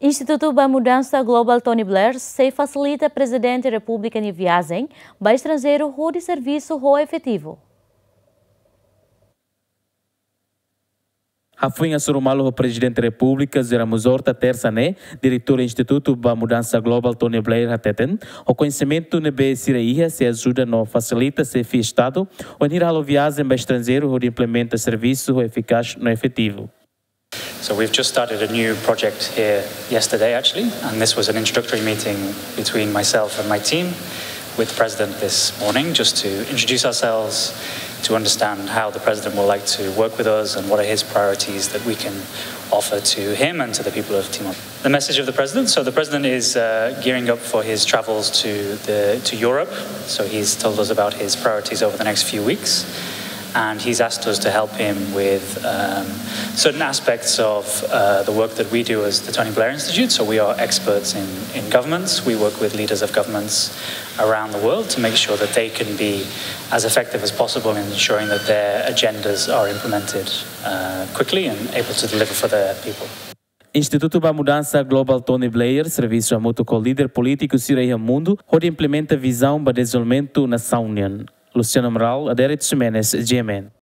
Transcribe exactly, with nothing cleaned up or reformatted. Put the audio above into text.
Institutu ba Mudansa Global Tony Blair sei fasilita Prezidente Repúblika nia viajen ba estranjeiru hodi servisu ho efetivu. Hafoin hasoru malu ho Prezidente Repúblika José Ramos Horta tersa ne'e, Diretór Institutu ba Mudansa Global Tony Blair hateten, ho koñesimentu ne'ebé sira iha sei ajuda no fasilita Xefe Estadu wainhira halo viajen ba estranjeiru hodi implementa servisu ho efikás no efetivu. So we've just started a new project here yesterday, actually, and this was an introductory meeting between myself and my team with the president this morning, just to introduce ourselves, to understand how the president will like to work with us and what are his priorities that we can offer to him and to the people of Timor. The message of the president. So the president is uh, gearing up for his travels to the to Europe. So he's told us about his priorities over the next few weeks, and he's asked us to help him with um, certain aspects of uh, the work that we do as the Tony Blair Institute. So we are experts in, in governments. We work with leaders of governments around the world to make sure that they can be as effective as possible in ensuring that their agendas are implemented uh, quickly and able to deliver for their people. Institutu ba Mudansa Global Tony Blair servisu hamutuk ho líder polítiku sira iha mundu hodi implementa vizaun ba dezenvolvimentu nasaun nian. Luciano Amaral, Adérito Ximenes, G M N.